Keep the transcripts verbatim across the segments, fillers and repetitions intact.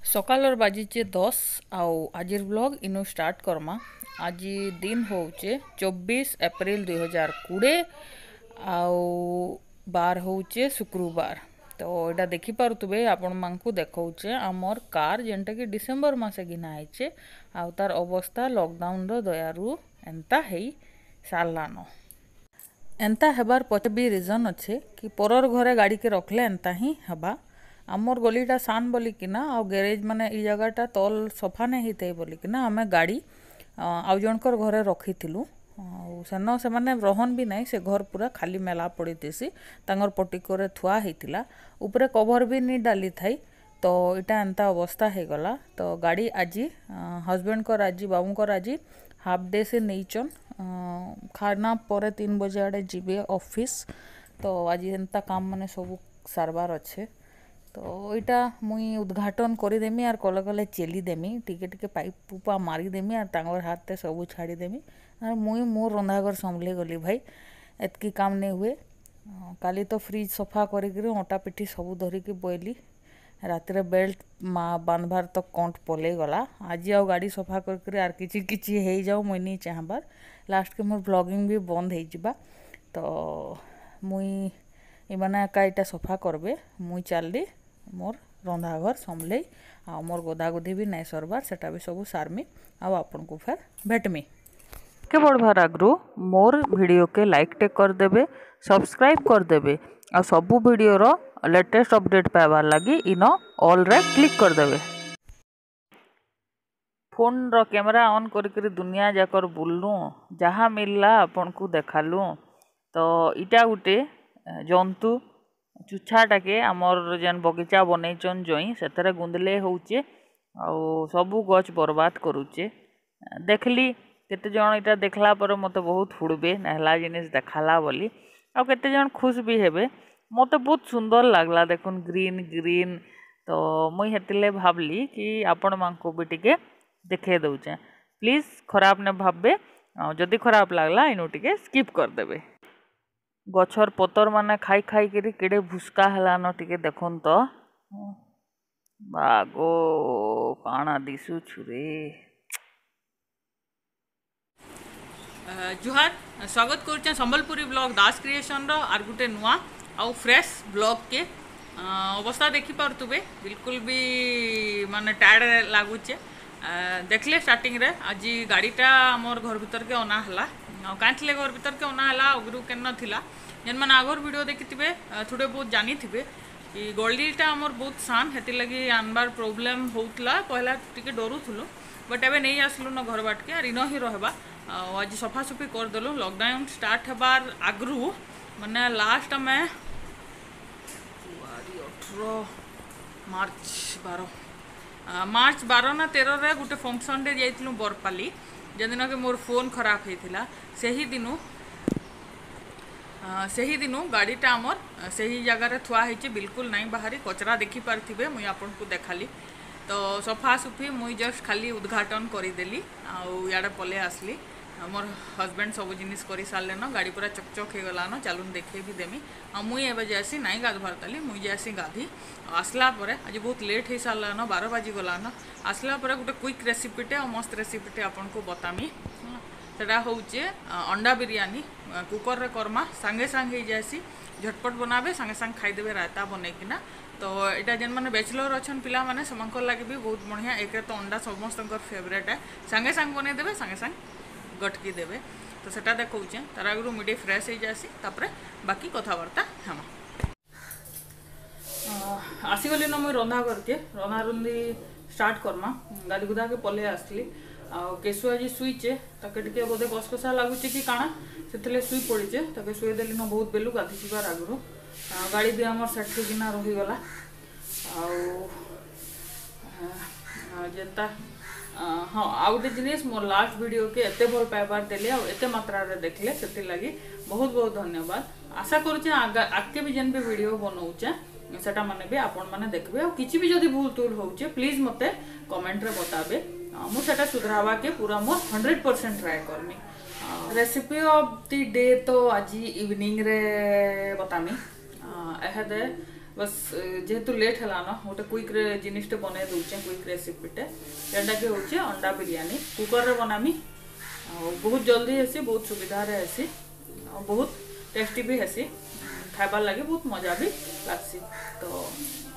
ସକାଳର ବାଜିଛେ ଦଶ, ଆଉ ଆଜିର ବ୍ଲଗ ଇନୁ ଷ୍ଟାର୍ଟ କରମା। ଆଜି ଦିନ ହଉଛେ ଚବିଶ ଏପ୍ରିଲ ଦୁଇ ହଜାର କୋଡ଼ିଏ, ଆଉ ବାର ହଉଛେ ଶୁକ୍ରବାର। ତ ଏଇଟା ଦେଖିପାରୁଥିବେ, ଆପଣମାନଙ୍କୁ ଦେଖଉଛେ ଆମର କାର, ଯେନ୍ଟାକି ଡିସେମ୍ବର ମାସେ ଘିନା ହେଇଛେ, ଆଉ ତାର ଅବସ୍ଥା ଲକଡାଉନର ଦୟାରୁ ଏନ୍ତା ହେଇ ସାରଲାନ। ଏନ୍ତା ହେବାର ପଛେ ବି ରିଜନ ଅଛେ କି ପରର ଘରେ ଗାଡ଼ିକେ ରଖଲେ ଏନ୍ତା ହିଁ ହେବା। ଆମର ଗଲିଟା ସାନ ବୋଲିକିନା, ଆଉ ଗ୍ୟାରେଜ ମାନେ ଇ ଜାଗାଟା ତଲ ସଫା ନାଇଁ ହେଇଥାଇ ବୋଲିକିନା ଆମେ ଗାଡ଼ି, ଅ, ଆଉ ଜଣଙ୍କର ଘରେ ରଖିଥିଲୁ। ଆଉ ସେନ ସେମାନେ ରହନ ବି ନାଇଁ, ସେ ଘର ପୁରା ଖାଲି ମେଲା ପଡ଼ିଥିସି, ତାଙ୍କର ପଟିକରେ ଥୁଆ ହେଇଥିଲା, ଉପରେ କଭର ବି ନି ଡାଲି ଥାଇ। ତ ଇଟା ଏନ୍ତା ଅବସ୍ଥା ହେଇଗଲା। ତ ଗାଡ଼ି ଆଜି, ଅ, ହଜବେଣ୍ଡଙ୍କର ଆଜି, ବାବୁଙ୍କର ଆଜି ହାଫ୍ ଡେ ସେ ନେଇଛନ୍। ଅ, ଖାନା ପରେ ତିନି ବଜେ ଆଡ଼େ ଯିବେ ଅଫିସ। ତ ଆଜି ଏନ୍ତା କାମ ମାନେ ସବୁ ସାରବାର ଅଛେ। ତ ଇଟା ମୁଇଁ ଉଦ୍ଘାଟନ କରିଦେମି ଆର୍ କଲେ କଲେ ଚେଲି ଦେମି, ଟିକେ ଟିକେ ପାଇପ ପୁପା ମାରିଦେମି ଆର୍ ତାଙ୍କର ହାତରେ ସବୁ ଛାଡ଼ିଦେମି। ଆର୍ ମୁଇଁ ମୋର ରନ୍ଧାଘର ସମ୍ଭଲେଇ ଗଲି ଭାଇ, ଏତକି କାମ ନି ହୁଏ। ଅ, କାଲି ତ ଫ୍ରିଜ ସଫା କରିକିରି ଅଟା ପିଠି ସବୁ ଧରିକି ବଇଲି। ରାତିରେ ବେଲ୍ଟ ମା ବାନ୍ଧବାର ତ କଣ୍ଟ ପଲେଇ ଗଲା। ଆଜି ଆଉ ଗାଡ଼ି ସଫା କରିକିରି ଆର୍ କିଛି କିଛି ହେଇଯାଉ, ମୁଇଁ ନି ଚାହବାର। ଲାଷ୍ଟକେ ମୋର ବ୍ଲଗିଂ ବି ବନ୍ଦ ହେଇଯିବା। ତ ମୁଇଁ ଏମାନେ ଏକା ଇଟା ସଫା କରବେ, ମୁଇଁ ଚାଲଲି ମୋର ରନ୍ଧାଘର ସମ୍ଭଲେଇ, ଆଉ ମୋର ଗୋଧାଗୋଧି ବି ନାଇଁ ସରବାର, ସେଟା ବି ସବୁ ସାରମି, ଆଉ ଆପଣଙ୍କୁ ଫେର ଭେଟମି। କେ ବଢ଼ବାର ଆଗରୁ ମୋର ଭିଡ଼ିଓକେ ଲାଇକ୍ ଟେ କରିଦେବେ, ସବସ୍କ୍ରାଇବ୍ କରିଦେବେ, ଆଉ ସବୁ ଭିଡ଼ିଓର ଲେଟେଷ୍ଟ ଅପଡେଟ୍ ପାଇବାର ଲାଗି ଇନ ଅଲ୍ରେ କ୍ଲିକ୍ କରିଦେବେ। ଫୋନ୍ର କ୍ୟାମେରା ଅନ୍ କରିକିରି ଦୁନିଆ ଯାକର ବୁଲଲୁ, ଯାହା ମିଲଲା ଆପଣଙ୍କୁ ଦେଖାଲୁ। ତ ଇଟା ଗୁଟେ, ଏ, ଜନ୍ତୁ, ଚୁଛାଟାକେ ଆମର ଯେନ୍ ବଗିଚା ବନେଇଛନ୍ ଜଇଁ, ସେଥିରେ ଗୁନ୍ଦଲେ ହଉଛେ, ଆଉ ସବୁ ଗଛ ବରବାଦ କରୁଛେ। ଦେଖଲି, କେତେ ଜଣ ଇଟା ଦେଖଲା ପରେ ମତେ ବହୁତ ହୁଡ଼ବେ, ନେହଲା ଜିନିଷ ଦେଖାଲା ବୋଲି, ଆଉ କେତେ ଜଣ ଖୁସ ବି ହେବେ। ମତେ ବହୁତ ସୁନ୍ଦର ଲାଗଲା, ଦେଖୁନ୍, ଗ୍ରୀନ୍ ଗ୍ରୀନ୍। ତ ମୁଇଁ ହେତିଲେ ଭାବଲି କି ଆପଣମାନଙ୍କୁ ବି ଟିକେ ଦେଖେଇ ଦଉଛେ। ପ୍ଲିଜ ଖରାପ ନେ ଭାବବେ, ଆଉ ଯଦି ଖରାପ ଲାଗଲା, ଇନୁ ଟିକେ ସ୍କିପ୍ କରିଦେବେ। ଗଛର ପତର ମାନେ ଖାଇ ଖାଇକିରି କେଡ଼େ ଭୁସ୍କା ହେଲାନ, ଟିକେ ଦେଖୁନ୍ ତ। ବାଗୋ, କାଣା ଦିଶୁଛୁ ରେ? ଅ, ଜୁହାର, ସ୍ୱାଗତ କରୁଛେଁ ସମ୍ବଲପୁରୀ ବ୍ଲଗ ଦାସ କ୍ରିଏସନର ଆର୍ ଗୋଟେ ନୂଆ ଆଉ ଫ୍ରେଶ ବ୍ଲଗକେ। ଅ, ଅବସ୍ଥା ଦେଖିପାରୁଥିବେ, ବିଲକୁଲ ବି ମାନେ ଟାୟାର୍ଡ ଲାଗୁଛେ। ଅ, ଦେଖିଲେ ଷ୍ଟାର୍ଟିଂରେ ଆଜି ଗାଡ଼ିଟା ଆମର ଘର ଭିତରକେ ଅନା ହେଲା। ଆଉ କାଇଁ ଥିଲେ ଘର ଭିତରକେ ଅନା ହେଲା, ଆଗରୁ କେନ ଥିଲା? ଯେନ୍ମାନେ ଆଗର ଭିଡ଼ିଓ ଦେଖିଥିବେ, ଅ, ଥୁଡ଼େ ବହୁତ ଜାନିଥିବେ। ଇ ଗଳିଟା ଆମର ବହୁତ ସାନ, ହେଥିର୍ଲାଗି ଆନବାର ପ୍ରୋବ୍ଲେମ ହଉଥିଲା, ପହିଲା ଟିକେ ଡରୁଥିଲୁ, ବଟ୍ ଏବେ ନେଇ ଆସିଲୁ ନ ଘର ବାଟକେ, ଆର୍ ଇନ ହିଁ ରହିବା। ଆଉ ଆଜି ସଫାସୁଫି କରିଦେଲୁ। ଲକଡାଉନ ଷ୍ଟାର୍ଟ ହେବାର ଆଗରୁ, ମାନେ ଲାଷ୍ଟ ଆମେ ଫେବୃଆରୀ ଅଠର, ମାର୍ଚ୍ଚ ବାର, ଆ, ମାର୍ଚ୍ଚ ବାର ନା ତେରରେ ଗୋଟେ ଫଙ୍କସନରେ ଯାଇଥିଲୁ ବରପାଲି, ଯେଦିନକି ମୋର ଫୋନ୍ ଖରାପ ହେଇଥିଲା। ସେହି ଦିନୁ, ଆ, ସେହି ଦିନୁ ଗାଡ଼ିଟା ଆମର, ଆ, ସେହି ଜାଗାରେ ଥୁଆ ହେଇଛି, ବିଲକୁଲ ନାଇଁ ବାହାରି। କଚରା ଦେଖିପାରିଥିବେ, ମୁଇଁ ଆପଣଙ୍କୁ ଦେଖାଲି। ତ ସଫାସୁଫି ମୁଇଁ ଜଷ୍ଟ ଖାଲି ଉଦ୍ଘାଟନ କରିଦେଲି, ଆଉ ଇଆଡ଼େ ପଲେଇ ଆସିଲି। ଆଉ ମୋର ହଜବେଣ୍ଡ ସବୁ ଜିନିଷ କରି ସାରିଲେନ, ଗାଡ଼ି ପୁରା ଚକଚକ ହେଇଗଲାନ। ଚାଲୁନ ଦେଖେଇ ବି ଦେମି। ଆଉ ମୁଇଁ ଏବେ ଯାଏସି ନାଇଁ ଗାଧବାର ତାଲି, ମୁଇଁ ଯାଏସି ଗାଧି। ଆଉ ଆସିଲା ପରେ, ଆଜି ବହୁତ ଲେଟ୍ ହେଇ ସାରିଲାନ, ବାର ବାଜି ଗଲାନ। ଆସିଲା ପରେ ଗୋଟେ କ୍ୱିକ୍ ରେସିପିଟେ ଆଉ ମସ୍ତ ରେସିପିଟେ ଆପଣଙ୍କୁ ବତାମି। ସେଟା ହଉଛେ, ଅ, ଅଣ୍ଡା ବିରିୟାନୀ। ଅ, କୁକରରେ କରମା, ସାଙ୍ଗେ ସାଙ୍ଗ ହେଇଯାଏସି। ଝଟପଟ ବନାବେ, ସାଙ୍ଗେ ସାଙ୍ଗ ଖାଇଦେବେ ରାୟତା ବନେଇକିନା। ତ ଏଇଟା ଯେନ୍ମାନେ ବ୍ୟାଚଲର ଅଛନ୍ ପିଲାମାନେ, ସେମାନଙ୍କର ଲାଗି ବି ବହୁତ ବଢ଼ିଆ। ଏକରେ ତ ଅଣ୍ଡା ସମସ୍ତଙ୍କର ଫେଭରେଟ୍ ହେ, ସାଙ୍ଗେ ସାଙ୍ଗ ବନେଇଦେବେ, ସାଙ୍ଗେ ସାଙ୍ଗ ଗଟକି ଦେବେ। ତ ସେଟା ଦେଖଉଛେ, ତାର ଆଗରୁ ମୁଇଁ ଟିକେ ଫ୍ରେଶ୍ ହେଇଯାଏସି, ତାପରେ ବାକି କଥାବାର୍ତ୍ତା ହେମା। ଅ, ଆସିଗଲି ନ ମୁଇଁ ରନ୍ଧା ଘରକେ, ରନ୍ଧା ରୁନ୍ଧି ଷ୍ଟାର୍ଟ କରମା। ଗାଧି ଗୁଧାକେ ପଲେଇ ଆସିଲି। ଆଉ କେଶୁ ଆଜି ଶୁଇଛେ, ତାକେ ଟିକେ ବୋଧେ କସକସା ଲାଗୁଛେ କି କାଣା, ସେଥିର୍ଲାଗି ଶୁଇ ପଡ଼ିଛେ। ତାକେ ଶୁଏଇ ଦେଲି ନ ବହୁତ ବେଲୁ ଗାଧି ଯିବାର ଆଗରୁ। ଅ, ଗାଡ଼ି ବି ଆମର ସେଟ୍ ହେଇକିନା ରହିଗଲା। ଆଉ, ଅ, ଅ, ଯେନ୍ତା, ଅ, ହଁ, ଆଉ ଗୋଟେ ଜିନିଷ, ମୋର ଲାଷ୍ଟ ଭିଡ଼ିଓକେ ଏତେ ଭଲ ପାଇବାର ଦେଲେ ଆଉ ଏତେ ମାତ୍ରାରେ ଦେଖିଲେ, ସେଥିର୍ଲାଗି ବହୁତ ବହୁତ ଧନ୍ୟବାଦ। ଆଶା କରୁଛେ ଆଗା-, ଆଗକେ ବି ଯେନ୍ ବି ଭିଡ଼ିଓ ବନଉଛେ, ସେଟା ମାନେ ବି ଆପଣମାନେ ଦେଖିବେ। ଆଉ କିଛି ବି ଯଦି ଭୁଲ ତୁଲ ହଉଛେ, ପ୍ଲିଜ ମତେ କମେଣ୍ଟରେ ବତାବେ। ଅ, ମୁଁ ସେଟା ସୁଧରାବାକେ ପୁରା ମୋର ହଣ୍ଡ୍ରେଡ ପରସେଣ୍ଟ ଟ୍ରାଏ କରମି। ଆଉ Recipe of the day ତ ଆଜି ଇଭିନିଂ ରେ ବତାମି। ଆ, ଏହାଦେ ବସ୍, ଏ, ଯେହେତୁ ଲେଟ୍ ହେଲାନ, ଗୋଟେ କୁଇକ୍ ରେ ଜିନିଷଟେ ବନେଇ ଦଉଛେ, କୁଇକ୍ ରେସିପିଟେ। ଯେନ୍ଟାକି ହଉଛେ ଅଣ୍ଡା ବିରିୟାନୀ। କୁକରରେ ବନାମି। ଆଉ ବହୁତ ଜଲ୍ଦି ହେସି, ବହୁତ ସୁବିଧାରେ ହେସି। ଆଉ ବହୁତ ଟେଷ୍ଟି ବି ହେସି। ଖାଇବାର ଲାଗି ବହୁତ ମଜା ବି ଲାଗ୍ସି। ତ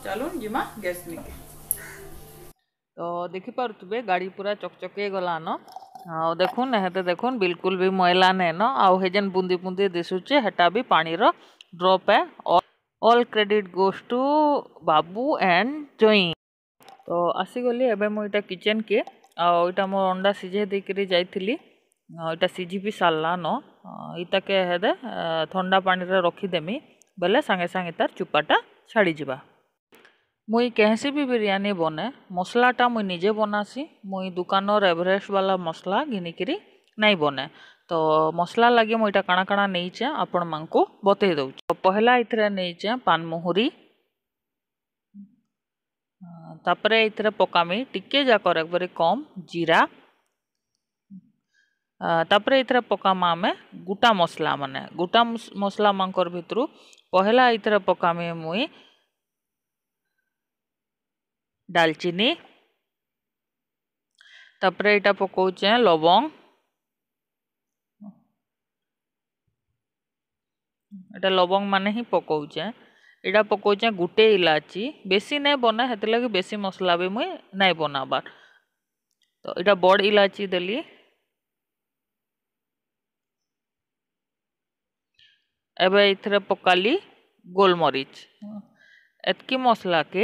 ଚାଲୁନ୍ ଯିମା ଗ୍ୟାସ୍ ନିକେ। ତ ଦେଖିପାରୁଥିବେ, ଗାଡ଼ି ପୁରା ଚକଚକେ ଗଲାନ। ଆଉ ଦେଖୁନ୍, ଏହେତେ ଦେଖୁନ୍, ବିଲକୁଲ ବି ମଇଲା ନାଇନ। ଆଉ ହେ ଯେନ୍ ବୁନ୍ଦି ବୁନ୍ଦି ଦିଶୁଛେ, ହେଟା ବି ପାଣିର ଡ୍ରପ୍ ଏ। All, all credit goes to ବାବୁ and ଜଇଁ। ତ ଆସିଗଲି ଏବେ ମୁଁ ଇଟା କିଚେନ୍ କେ। ଆଉ ଇଟା ମୋର ଅଣ୍ଡା ସିଝେଇ ଦେଇକିରି ଯାଇଥିଲି। ଆଉ ଇଟା ସିଝି ବି ସାରିଲାନ। ଅ, ଇଟାକେ ହେଦେ, ଅ, ଥଣ୍ଡା ପାଣିରେ ରଖିଦେମି, ବେଲେ ସାଙ୍ଗେ ସାଙ୍ଗେ ତାର ଚୁପାଟା ଛାଡ଼ିଯିବା। ମୁଇଁ କେହେସି ବି ବିରିୟାନୀ ବନେ, ମସଲାଟା ମୁଇଁ ନିଜେ ବନାସି। ମୁଇଁ ଦୁକାନର ଏଭରେଷ୍ଟ ବାଲା ମସଲା ଘିନିକିରି ନାଇଁ ବନେ। ତ ମସଲା ଲାଗି ମୁଇଁ ଇଟା କାଣା କାଣା ନେଇଛେ, ଆପଣମାନଙ୍କୁ ବତେଇ ଦଉଛେ। ତ ପହିଲା ଇଥିରେ ନେଇଛେ ପାନମୁହୁରି, ଅ, ତାପରେ ଇଥିରେ ପକାମି ଟିକେ ଯାକର ଏକବାରେ କମ୍ ଜିରା, ଅ, ତାପରେ ଇଥିରେ ପକାମା ଆମେ ଗୁଟା ମସଲା ମାନେ, ଗୁଟା ମସ-, ମସଲା ମାନଙ୍କର ଭିତରୁ ପହିଲା ଇଥିରେ ପକାମି ମୁଇଁ ଡାଲଚିନି, ତାପରେ ଇଟା ପକଉଛେ ଲବଙ୍ଗ, ଇଟା ଲବଙ୍ଗ ମାନେ ହିଁ ପକଉଛେ। ଇଟା ପକଉଛେ ଗୁଟେ ଇଲାଚି, ବେଶୀ ନାଇଁ ବନା, ହେଥିଲାଗି ବେଶୀ ମସଲା ବି ମୁଇଁ ନାଇଁ ବନାବାର। ତ ଇଟା ବଡ଼ ଇଲାଚି ଦେଲି। ଏବେ ଇଥିରେ ପକାଲି ଗୋଲମରିଚ। ଏତକି ମସଲାକେ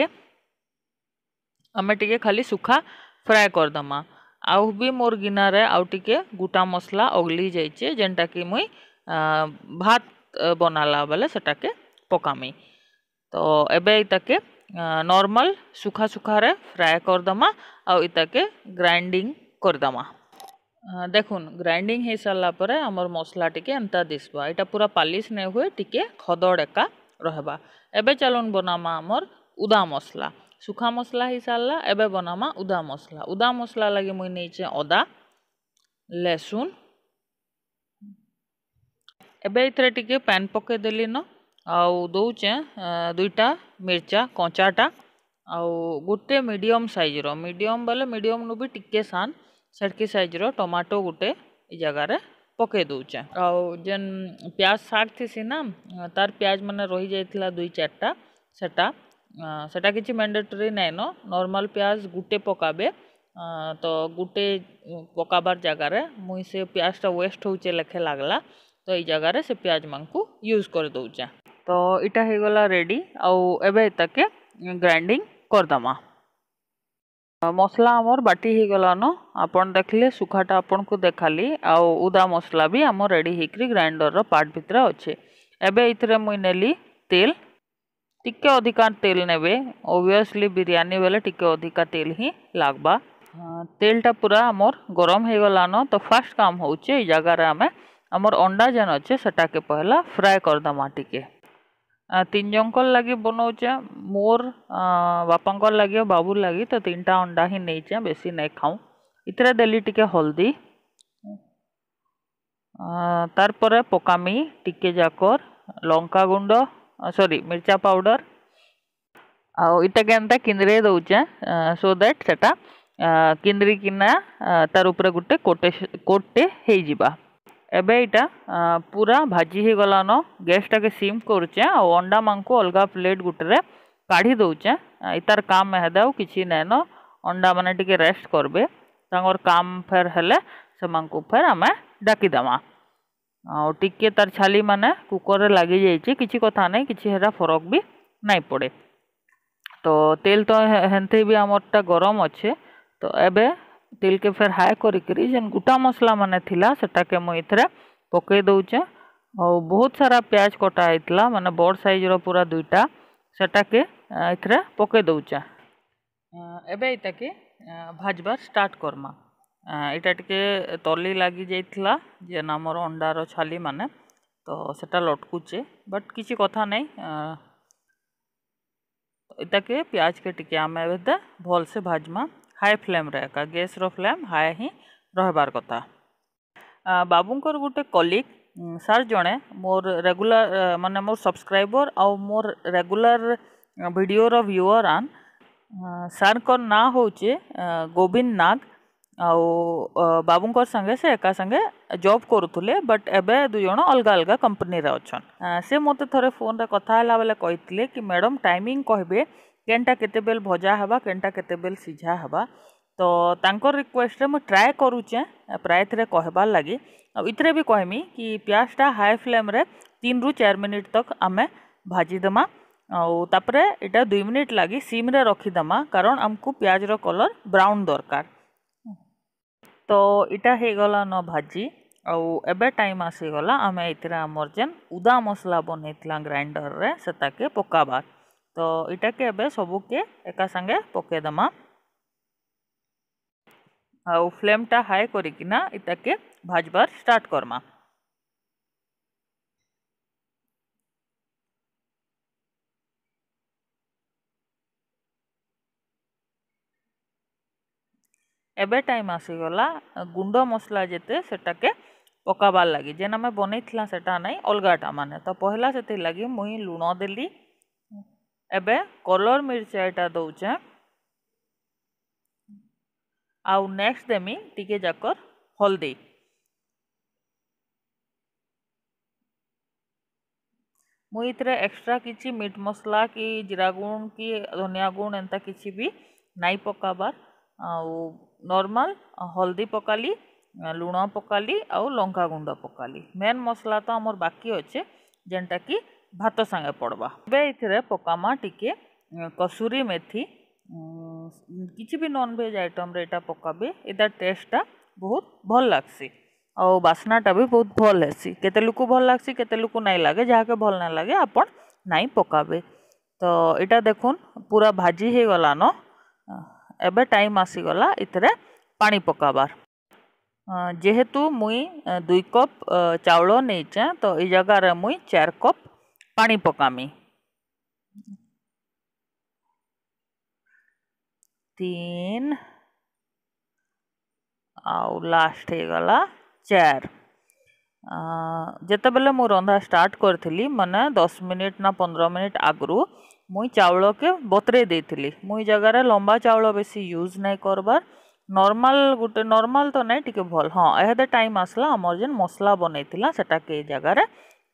ଆମେ ଟିକେ ଖାଲି ଶୁଖା ଫ୍ରାଏ କରିଦେମା। ଆଉ ବି ମୋର ଗିନାରେ ଆଉ ଟିକେ ଗୁଟା ମସଲା ଅଗଲି ଯାଇଛେ, ଯେନ୍ଟାକି ମୁଇଁ, ଆ, ଭାତ, ଆ, ବନାଲା ବେଲେ ସେଟାକେ ପକାମି। ତ ଏବେ ଇତାକେ, ଆ, ନର୍ମାଲ ଶୁଖା ଶୁଖାରେ ଫ୍ରାଏ କରିଦେମା, ଆଉ ଇତାକେ ଗ୍ରାଇଣ୍ଡିଂ କରିଦେମା। ଆ, ଦେଖୁନ୍, ଗ୍ରାଇଣ୍ଡିଂ ହେଇ ସାରିଲା ପରେ ଆମର ମସଲା ଟିକେ ଏନ୍ତା ଦିଶବା। ଇଟା ପୁରା ପାଲିସ ନାଇଁ ହୁଏ, ଟିକେ ଖଦଡ଼ ଏକା ରହେବା। ଏବେ ଚାଲୁନ୍ ବନାମା ଆମର ଉଦା ମସଲା। ଶୁଖା ମସଲା ହେଇ ସାରିଲା, ଏବେ ବନାମା ଉଦା ମସଲା। ଉଦା ମସଲା ଲାଗି ମୁଇଁ ନେଇଛେ ଅଦା, ଲେସୁନ। ଏବେ ଇଥିରେ ଟିକେ ପାନ୍ ପକେଇ ଦେଲି ନ, ଆଉ ଦଉଛେ, ଆ, ଦୁଇଟା ମିର୍ଚା କଞ୍ଚାଟା, ଆଉ ଗୋଟେ ମିଡିୟମ ସାଇଜର, ମିଡିୟମ ବେଲେ ମିଡିୟମ ନୁ ବି ଟିକେ ସାନ, ସେଟକି ସାଇଜର ଟମାଟୋ ଗୋଟେ ଇ ଜାଗାରେ ପକେଇ ଦଉଛେ। ଆଉ ଯେନ୍ ପିଆଜ ଶାଗ ଥିସି ନା, ତାର ପିଆଜ ମାନେ ରହି ଯାଇଥିଲା ଦୁଇ ଚାରିଟା, ସେଟା, ଆ, ସେଟା କିଛି ମ୍ୟାଣ୍ଡେଟୋରୀ ନାଇନ, ନର୍ମାଲ ପିଆଜ ଗୋଟେ ପକାବେ। ଆ, ତ ଗୋଟେ ପକାବାର ଜାଗାରେ ମୁଇଁ ସେ ପିଆଜଟା ୱେଷ୍ଟ ହଉଛେ ଲେଖେ ଲାଗଲା, ତ ଇ ଜାଗାରେ ସେ ପିଆଜ ମାନଙ୍କୁ ୟୁଜ କରି ଦଉଛେ। ତ ଇଟା ହେଇଗଲା ରେଡି, ଆଉ ଏବେ ଇତାକେ ଗ୍ରାଇଣ୍ଡିଂ କରିଦେମା। ମସଲା ଆମର ବାଟି ହେଇଗଲାନ, ଆପଣ ଦେଖିଲେ ଶୁଖାଟା ଆପଣଙ୍କୁ ଦେଖାଲି, ଆଉ ଉଦା ମସଲା ବି ଆମର ରେଡି ହେଇକରି ଗ୍ରାଇଣ୍ଡରର ପାର୍ଟ ଭିତରେ ଅଛେ। ଏବେ ଇଥିରେ ମୁଇଁ ନେଲି ତେଲ, ଟିକେ ଅଧିକା ତେଲ ନେବେ, ଅବଭିୟସଲି ବିରିୟାନୀ ବେଲେ ଟିକେ ଅଧିକା ତେଲ ହିଁ ଲାଗବା। ଆ, ତେଲଟା ପୁରା ଆମର ଗରମ ହେଇଗଲାନ, ତ ଫାର୍ଷ୍ଟ କାମ ହଉଛେ ଇ ଜାଗାରେ ଆମେ ଆମର ଅଣ୍ଡା ଯେନ୍ ଅଛେ ସେଟାକେ ପହିଲା ଫ୍ରାଏ କରିଦେମା ଟିକେ। ଆ, ତିନି ଜଣଙ୍କର ଲାଗି ବନଉଛେ, ମୋର, ଆ, ବାପାଙ୍କର ଲାଗି ଆଉ ବାବୁର ଲାଗି, ତ ତିନିଟା ଅଣ୍ଡା ହିଁ ନେଇଛେ, ବେଶୀ ନାଇଁ ଖାଉଁ। ଇଥିରେ ଦେଲି ଟିକେ ହଳଦୀ, ଆ, ତାର ପରେ ପକାମି ଟିକେ ଯାକର ଲଙ୍କା ଗୁଣ୍ଡ, ଆ, ସରି, ମିର୍ଚା ପାଉଡର। ଆଉ ଇଟା କେନ୍ତା କିନ୍ଦିରେଇ ଦଉଛେ, ଆ, so that ସେଟା, ଆ, କିନ୍ଦିରି କିନା, ଆ, ତାର ଉପରେ ଗୋଟେ କୋଟେ, କୋଟଟେ ହେଇଯିବା। ଏବେ ଇଟା, ଆ, ପୁରା ଭାଜି ହେଇଗଲାନ। ଗ୍ୟାସଟାକେ ସିମ୍ କରୁଛେ, ଆଉ ଅଣ୍ଡା ମାନଙ୍କୁ ଅଲଗା ପ୍ଲେଟ ଗୁଟେରେ କାଢି ଦଉଛେ। ଆ, ଇତାର କାମ ଏହାଦେ ଆଉ କିଛି ନାଇନ। ଅଣ୍ଡା ମାନେ ଟିକେ ରେଷ୍ଟ କରବେ, ତାଙ୍କର କାମ ଫେର ହେଲେ ସେମାନଙ୍କୁ ଫେର ଆମେ ଡାକିଦେମା। ଆଉ ଟିକେ ତାର ଛାଲି ମାନେ କୁକରରେ ଲାଗି ଯାଇଛି, କିଛି କଥା ନାଇଁ, କିଛି ହେଟା ଫରକ ବି ନାଇଁ ପଡେ। ତ ତେଲ ତ ହେ-, ହେନ୍ତେ ବି ଆମରଟା ଗରମ ଅଛେ। ତ ଏବେ ତେଲକେ ଫେର ହାଇ କରିକିରି ଯେନ୍ ଗୁଟା ମସଲା ମାନେ ଥିଲା, ସେଟାକେ ମୁଇଁ ଏଥିରେ ପକେଇ ଦଉଛେ। ଆଉ ବହୁତ ସାରା ପିଆଜ କଟା ହେଇଥିଲା, ମାନେ ବଡ଼ ସାଇଜର ପୁରା ଦୁଇଟା, ସେଟାକେ, ଆ, ଏଥିରେ ପକେଇ ଦଉଛେ। ଆ, ଏବେ ଇତାକେ, ଆ, ଭାଜବାର ଷ୍ଟାର୍ଟ କରମା। ଆ, ଇଟା ଟିକେ ତଲି ଲାଗି ଯାଇଥିଲା, ଯେନ୍ ଆମର ଅଣ୍ଡାର ଛାଲି ମାନେ, ତ ସେଟା ଲଟକୁଛେ, ବଟ୍ କିଛି କଥା ନାଇଁ। ଆ, ଇତାକେ ପିଆଜକେ ଟିକେ ଆମେ ଏବେ ଦେ ଭଲସେ ଭାଜମା, ହାଇ ଫ୍ଲେମରେ ଏକା, ଗ୍ୟାସର ଫ୍ଲେମ ହାଇ ହିଁ ରହିବାର କଥା। ଆ, ବାବୁଙ୍କର ଗୋଟେ କଲିଗ୍, ଉଁ, ସାର୍ ଜଣେ ମୋର ରେଗୁଲାର, ଅ, ମାନେ ମୋର ସବସ୍କ୍ରାଇବର ଆଉ ମୋର ରେଗୁଲାର, ଅ, ଭିଡ଼ିଓର ଭ୍ୟୁଅର ଆନ୍। ଅ, ସାର୍ଙ୍କର ନାଁ ହଉଛେ, ଅ, ଗୋବିନ୍ଦ ନାଗ। ଆଉ, ଅ, ବାବୁଙ୍କର ସାଙ୍ଗେ ସେ ଏକା ସାଙ୍ଗେ ଜବ୍ କରୁଥିଲେ, ବଟ୍ ଏବେ ଦୁଇ ଜଣ ଅଲଗା ଅଲଗା କମ୍ପାନୀରେ ଅଛନ୍। ଅ, ସେ ମୋତେ ଥରେ ଫୋନ୍ରେ କଥା ହେଲା ବେଳେ କହିଥିଲେ କି, "ମ୍ୟାଡ଼ାମ୍, ଟାଇମିଂ କହିବେ, କେନ୍ଟା କେତେବେଲେ ଭଜା ହେବା, କେନ୍ଟା କେତେବେଲେ ସିଝା ହେବା।" ତ ତାଙ୍କର ରିକ୍ୱେଷ୍ଟରେ ମୁଁ ଟ୍ରାଏ କରୁଛେଁ, ପ୍ରାୟ ଥରେ କହିବାର ଲାଗି। ଆଉ ଇଥିରେ ବି କହିମି କି ପିଆଜଟା ହାଇ ଫ୍ଲେମ୍ରେ ତିନିରୁ ଚାରି ମିନିଟ୍ ତକ ଆମେ ଭାଜିଦେମା। ଆଉ ତାପରେ ଇଟା ଦୁଇ ମିନିଟ୍ ଲାଗି ସିମ୍ରେ ରଖିଦେମା, କାରଣ ଆମକୁ ପିଆଜର କଲର୍ ବ୍ରାଉନ୍ ଦରକାର। ତ ଇଟା ହେଇଗଲା ନ ଭାଜି। ଆଉ ଏବେ ଟାଇମ୍ ଆସିଗଲା ଆମେ ଏଥିରେ ଆମର ଯେନ୍ ଉଦା ମସଲା ବନେଇଥିଲା ଗ୍ରାଇଣ୍ଡରରେ, ସେଟାକେ ପକାବାର। ତ ଇଟାକେ ଏବେ ସବୁକେ ଏକା ସାଙ୍ଗେ ପକେଇଦେମା। ଆଉ ଫ୍ଲେମ୍ଟା ହାଇ କରିକିନା ଇଟାକେ ଭାଜବାର ଷ୍ଟାର୍ଟ କର୍ମା। ଏବେ ଟାଇମ୍ ଆସିଗଲା ଗୁଣ୍ଡ ମସଲା ଯେତେ ସେଟାକେ ପକାବାର ଲାଗି। ଯେନ୍ ଆମେ ବନେଇଥିଲା ସେଟା ନାଇଁ, ଅଲଗାଟା ମାନେ। ତ ପହିଲା ସେଥିର୍ ଲାଗି ମୁଇଁ ଲୁଣ ଦେଲି। ଏବେ କଲର୍ ମିର୍ଚା ଇଟା ଦଉଛେଁ। ଆଉ ନେକ୍ସଟ ଦେମି ଟିକେ ଯାକର ହଳଦୀ। ମୁଇଁ ଇଥିରେ ଏକ୍ସଟ୍ରା କିଛି ମିଟ୍ ମସଲା କି ଜିରା ଗୁଣ୍ଡ କି ଧନିଆ ଗୁଣ୍ଡ ଏନ୍ତା କିଛି ବି ନାଇଁ ପକାବାର। ଆଉ ନର୍ମାଲ ହଳଦୀ ପକାଲି, ଲୁଣ ପକାଲି, ଆଉ ଲଙ୍କା ଗୁଣ୍ଡ ପକାଲି। ମେନ୍ ମସଲା ତ ଆମର ବାକି ଅଛେ, ଯେନ୍ଟା କି ଭାତ ସାଙ୍ଗେ ପଡ଼ବା। ଏବେ ଇଥିରେ ପକାମା ଟିକେ, ଉଁ, କସୁରୀ ମେଥି। ଉଁ, କିଛି ବି ନନଭେଜ ଆଇଟମରେ ଇଟା ପକାବେ, ଇଟା ଟେଷ୍ଟଟା ବହୁତ ଭଲ ଲାଗ୍ସି। ଆଉ ବାସ୍ନାଟା ବି ବହୁତ ଭଲ ହେସି। କେତେ ଲୋକ ଭଲ ଲାଗ୍ସି, କେତେ ଲୋକ ନାଇଁ ଲାଗେ, ଯାହାକେ ଭଲ ନାଇଁ ଲାଗେ, ଆପଣ ନାଇଁ ପକାବେ। ତ ଇଟା ଦେଖୁନ୍, ପୁରା ଭାଜି ହେଇଗଲାନ। ଏବେ ଟାଇମ୍ ଆସିଗଲା ଇଥିରେ ପାଣି ପକାବାର। ଅ, ଯେହେତୁ ମୁଇଁ, ଅ, ଦୁଇ କପ୍, ଅ, ଚାଉଳ ନେଇଛେଁ, ତ ଇ ଜାଗାରେ ମୁଇଁ ଚାରି କପ୍ ପାଣି ପକାମି। ତିନ୍, ଆଉ ଲାଷ୍ଟ ହେଇଗଲା ଚାର୍। ଅ, ଯେତେବେଲେ ମୁଁ ରନ୍ଧା ଷ୍ଟାର୍ଟ କରିଥିଲି, ମାନେ ଦଶ ମିନିଟ୍ ନା ପନ୍ଦର ମିନିଟ୍ ଆଗରୁ, ମୁଇଁ ଚାଉଳକେ ବତରେଇ ଦେଇଥିଲି। ମୁଇଁ ଇ ଜାଗାରେ ଲମ୍ବା ଚାଉଳ ବେଶୀ ୟୁଜ୍ ନାଇଁ କରବାର, ନର୍ମାଲ ଗୋଟେ, ନର୍ମାଲ ତ ନାଇଁ, ଟିକେ ଭଲ। ହଁ, ଏହାଦେ ଟାଇମ୍ ଆସଲା, ଆମର ଯେନ୍ ମସଲା ବନେଇଥିଲା, ସେଟାକେ ଇ ଜାଗାରେ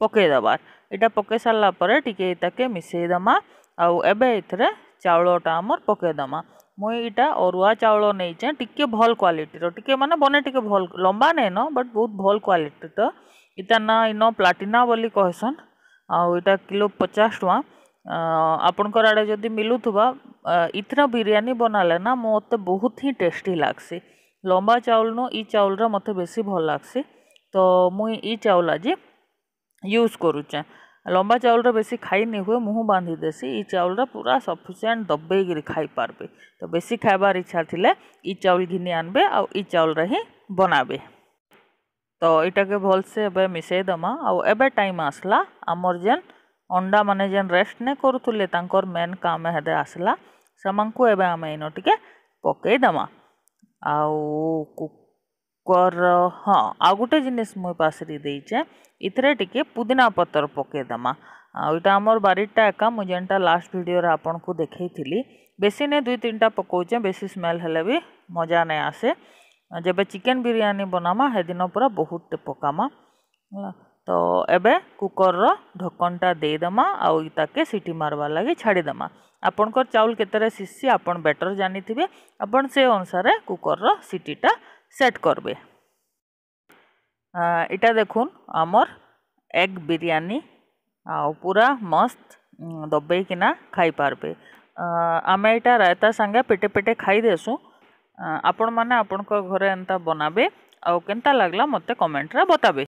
ପକେଇ ଦେବାର। ଇଟା ପକେଇ ସାରିଲା ପରେ ଟିକେ ଇଟାକେ ମିଶେଇ ଦେମା। ଆଉ ଏବେ ଏଥିରେ ଚାଉଳଟା ଆମର ପକେଇ ଦେମା। ମୁଇଁ ଇଟା ଅରୁଆ ଚାଉଳ ନେଇଛେଁ, ଟିକେ ଭଲ କ୍ୱାଲିଟିର, ଟିକେ ମାନେ ବନେ ଟିକେ ଭଲ, ଲମ୍ବା ନାଇଁନ, ବଟ୍ ବହୁତ ଭଲ କ୍ୱାଲିଟିର। ଇଟା ନା ଇନ ପ୍ଲାଟିନା ବୋଲି କହେସନ୍। ଆଉ ଇଟା କିଲୋ ପଚାଶ ଟଙ୍କା। ଅ, ଆପଣଙ୍କର ଆଡ଼େ ଯଦି ମିଲୁଥିବା, ଅ, ଇଥର ବିରିୟାନୀ ବନାଲେ ନା, ମତେ ବହୁତ ହିଁ ଟେଷ୍ଟି ଲାଗ୍ସି। ଲମ୍ବା ଚାଉଳ ନୁ ଇ ଚାଉଳଟା ମତେ ବେଶୀ ଭଲ ଲାଗ୍ସି। ତ ମୁଇଁ ଇ ଚାଉଳ ଆଜି ୟୁଜ୍ କରୁଛେଁ। ଲମ୍ବା ଚାଉଳର ବେଶୀ ଖାଇ ନି ହୁଏ, ମୁହଁ ବାନ୍ଧି ଦେସି। ଇ ଚାଉଳଟା ପୁରା ସଫିସିଏଣ୍ଟ ଦବେଇକିରି ଖାଇ ପାରବେ। ତ ବେଶୀ ଖାଇବାର ଇଚ୍ଛା ଥିଲେ ଇ ଚାଉଳ ଘିନି ଆନବେ ଆଉ ଇ ଚାଉଳରେ ହିଁ ବନାବେ। ତ ଇଟାକେ ଭଲସେ ଏବେ ମିଶେଇ ଦେମା। ଆଉ ଏବେ ଟାଇମ୍ ଆସଲା, ଆମର ଯେନ୍ ଅଣ୍ଡା ମାନେ ଯେନ୍ ରେଷ୍ଟ ନେ କରୁଥିଲେ, ତାଙ୍କର ମେନ୍ କାମ ଏହାଦେ ଆସଲା। ସେମାନଙ୍କୁ ଏବେ ଆମେ ଇନ ଟିକେ ପକେଇ ଦେମା। ଆଉ କୁ-, କର, ହଁ, ଆଉ ଗୋଟେ ଜିନିଷ ମୁଇଁ ପାସରି ଦେଇଛେ, ଇଥିରେ ଟିକେ ପୁଦିନା ପତର ପକେଇ ଦେମା। ଆଉ ଇଟା ଆମର ବାରିଟା ଏକା, ମୁଁ ଯେନ୍ଟା ଲାଷ୍ଟ ଭିଡ଼ିଓରେ ଆପଣଙ୍କୁ ଦେଖେଇଥିଲି। ବେଶୀ ନେ, ଦୁଇ ତିନିଟା ପକଉଛେ, ବେଶୀ ସ୍ମେଲ୍ ହେଲେ ବି ମଜା ନାଇଁ ଆସେ। ଯେବେ ଚିକେନ୍ ବିରିୟାନୀ ବନାମା, ହେଦିନ ପୁରା ବହୁତ ଟେ ପକାମା। ହେଲା, ତ ଏବେ କୁକରର ଢକ୍କନଟା ଦେଇଦେମା, ଆଉ ଇତାକେ ସିଟି ମାରବାର ଲାଗି ଛାଡ଼ିଦେମା। ଆପଣଙ୍କର ଚାଉଳ କେତେରେ ସିଝସି, ଆପଣ ବେଟର ଜାନିଥିବେ, ଆପଣ ସେ ଅନୁସାରେ କୁକରର ସିଟିଟା ସେଟ୍ କରବେ। ଆ, ଇଟା ଦେଖୁନ୍, ଆମର ଏଗ୍ ବିରିୟାନୀ, ଆଉ ପୁରା ମସ୍ତ, ଉଁ, ଦବେଇକିନା ଖାଇପାରବେ। ଆ, ଆମେ ଇଟା ରାୟତା ସାଙ୍ଗେ ପେଟେ ପେଟେ ଖାଇ ଦେସୁଁ। ଆ, ଆପଣମାନେ ଆପଣଙ୍କ ଘରେ ଏନ୍ତା ବନାବେ, ଆଉ କେନ୍ତା ଲାଗଲା ମତେ କମେଣ୍ଟରେ ବତାବେ।